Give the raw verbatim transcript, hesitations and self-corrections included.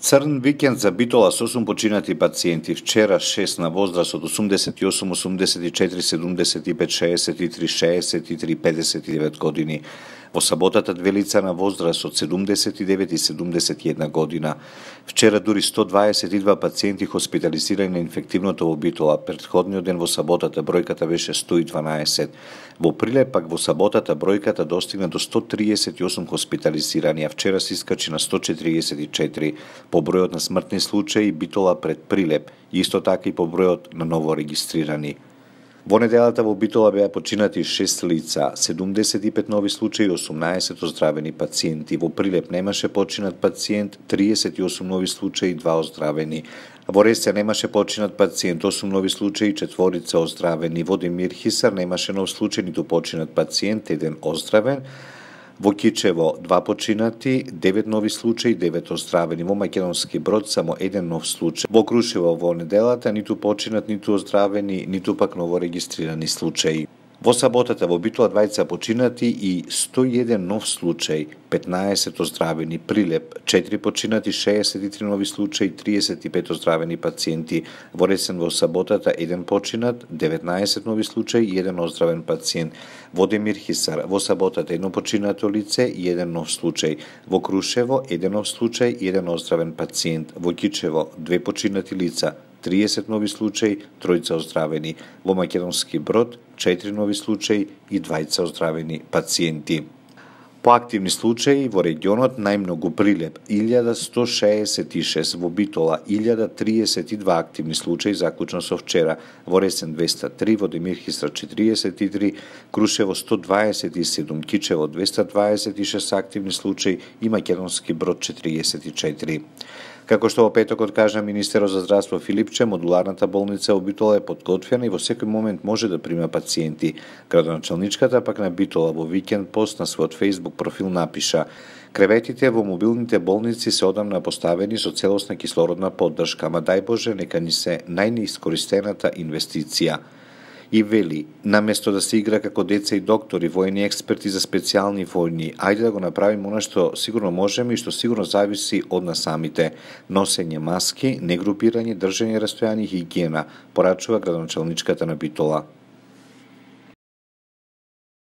Црн викенд за Битола со осум починати пациенти, вчера шест на возраст од осумдесет и осум, осумдесет и четири, седумдесет и пет, шеесет и три, шеесет и три, педесет и девет години. Во саботата две лица на возраст од седумдесет и девет и седумдесет и една година. Вчера дури сто дваесет и два пациенти хоспитализирани на инфективното во Битола. Претходниот ден во саботата бројката беше сто и дванаесет. Во Прилеп пак во саботата бројката достигна до сто триесет и осум хоспитализирани, а вчера се искачи на сто четириесет и четири. По бројот на смртни случаи Битола пред Прилеп, исто така и по бројот на ново регистрирани. Во неделата во Битола беа починати шест лица, седумдесет и пет нови случаи и осумнаесет оздравени пациенти. Во Прилеп немаше починат пациент, триесет и осум нови случаи и два оздравени. Во Ресце немаше починат пациент, осум нови случаи и четворица оздравени. Во Демир Хисар немаше нов случај ниту починат пациент, еден оздравен. Во Кичево два починати, девет нови случаи, девет оздравени. Во Македонски Брод само еден нов случај. Во Крушево во неделата ниту починат, ниту оздравени, ниту пак новорегистрирани случаи. Во саботата во Битола двајца починати и сто и еден нов случај, петнаесет оздравени. Прилеп четири починати, шеесет и три нови случаи, триесет и пет оздравени пациенти. Во Ресен во саботата еден починат, деветнаесет нови случаи и еден оздравен пациент. Во Демир Хисар во саботата едно починато лице и еден нов случај. Во Крушево еден нов случај и еден оздравен пациент. Во Кичево две починати лица, триесет нови случаи, тројца оздравени. Во Македонски Брод четири нови случаи и двајца оздравени пациенти. По активни случаи во регионот најмногу Прилеп илјада сто шеесет и шест, во Битола илјада триесет и два активни случаи заклучно со вчера, во Ресен двеста три, во Демир Хисар четириесет и три, Крушево сто дваесет и седум, Кичево двеста дваесет и шест активни случаи и Македонски Брод четириесет и четири. Како што во петокот кажа министерот за здравство Филипче, модуларната болница во Битола е подготвена и во секој момент може да прима пациенти. Градоначалничката пак на Битола во викенд пост на својот Facebook профил напиша: "Креветите во мобилните болници се одамна поставени со целосна кислородна поддршка, ама дај Боже нека ни се најнеискористената инвестиција." И вели, наместо да се игра како деца и доктори, воени експерти за специјални војни, ајде да го направиме она што сигурно можеме и што сигурно зависи од нас самите. Носење маски, негрупирање, држење растојање и хигиена, порачува градоначалничката на Битола.